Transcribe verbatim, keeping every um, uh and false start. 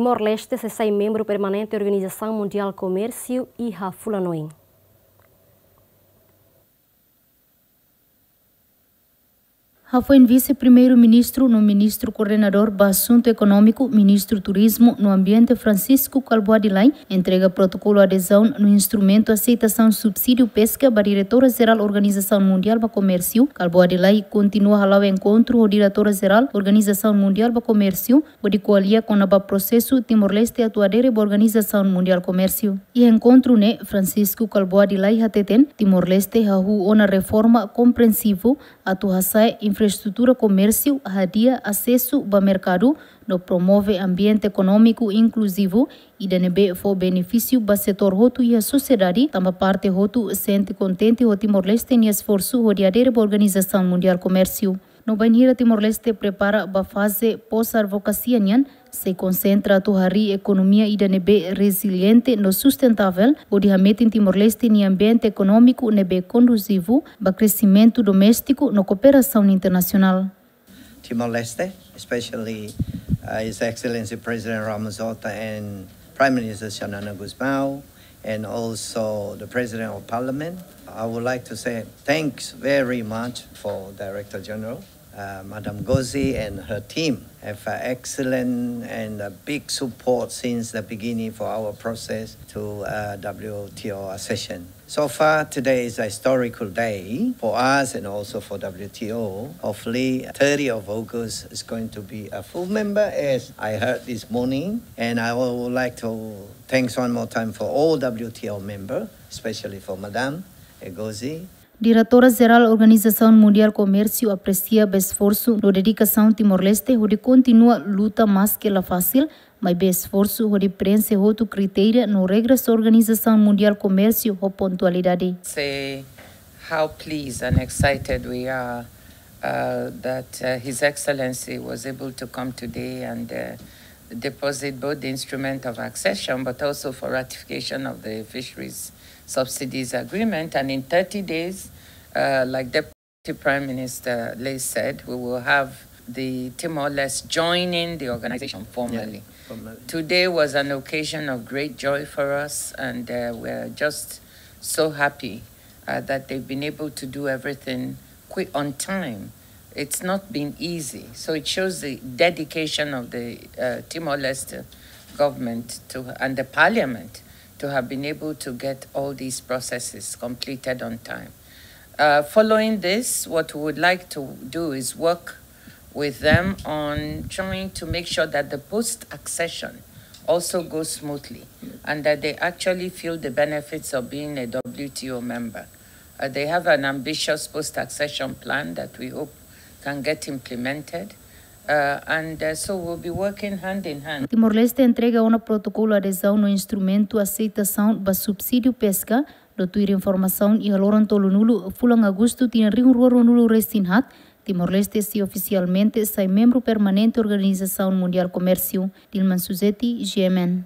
Timor-Leste sei sai membru permanente Organizasaun Mundiál Komérsiu iha fulan oin. Hafoin Vise-Primeiru-Ministru no Ministru Koordenadór ba Asuntu Ekonómiku, Ministru Turizmu no Ambiente Francisco Kalbuadi Lay entrega protokolu adezaun no instrumentu aseitasaun subsídiu peska ba Diretora Jerál Organizasaun Mundiál ba Komérsiu, Kalbuadi Lay kontinua hala'o enkontru ho Diretora Jerál Organizasaun Mundiál ba Komérsiu, hodi ko'alia kona-ba prosesu Timor-Leste atu adere ba Organizasaun Mundiál Komérsiu. Iha enkontru ne'e, Francisco Kalbuadi Lay hateten, Timor-Leste hahú ona reforma komprensivu atu hasa'e infraestrutura komérsiu, hadi'a asesu ba merkadu, no promove ambiente ekonómiku inkluzivu, ida ne'ebé fó benefísiu ba setór hotu iha sosiedade, tanba parte hotu sente kontente ho Timor-Leste nia esforsu hodi adere ba Organizasaun Mundiál Komérsiu. No bainhira Timor-Leste prepara ba faze pós-advokasia nian, sei konsentra atu harii ekonomia ida ne'ebé reziliente no sustentável, hodi hametin Timor-Leste nia ambiente ekonómiku ne'ebé konduzivu ba kresimentu doméstiku no kooperasaun internasionál. Timor-Leste, especially, uh, His Excellency President Ramos Horta and Prime Minister Xanana Gusmão, and also the President of Parliament. I would like to say thanks very much for Director General, uh, Madam Gozi and her team have an excellent and a big support since the beginning for our process to, uh, W T O accession. So far, today is a historical day for us and also for W T O. Hopefully, thirtieth of August is going to be a full member, as I heard this morning. And I would like to thanks one more time for all W T O member, especially for Madam Ngozi. Diretora Jerál Organizasaun Mundiál Komérsiu apresia ba esforsu no dedikasaun Timor-Leste hodi kontinua luta maske la fasil, maibé esforsu hodi prenxe hotu kritéria no regras Organizasaun Mundiál Komérsiu ho pontualidade. Say how pleased and excited we are, uh, that, uh, His Excellency was able to come today and, uh, deposit both the instrument of accession but also for ratification of the fisheries subsidies agreement. And in thirty days, uh, like Deputy Prime Minister Lay said, we will have the Timor-Leste joining the organization formally. Today was an occasion of great joy for us, and, uh, we're just so happy, uh, that they've been able to do everything quick, on time. It's not been easy, so it shows the dedication of the, uh, Timor-Leste government to, and the parliament to have been able to get all these processes completed on time. Uh, following this, what we would like to do is work with them on trying to make sure that the post-accession also goes smoothly and that they actually feel the benefits of being a W T O member. Uh, they have an ambitious post-accession plan that we hope can get implemented. Uh, and, uh, so we'll be working hand in hand. Timor-Leste entrega ona protokolu adezaun no instrumentu aseitasaun ba subsídiu peska, no tuir informasaun iha loron tolunulu fulan Agostu tinan rihun rua ruanulu-resin-haat, Timor-Leste sei ofisialmente sai membru permanente Organizasaun Mundiál Komérsiu. Dilman Suzeti, G M N.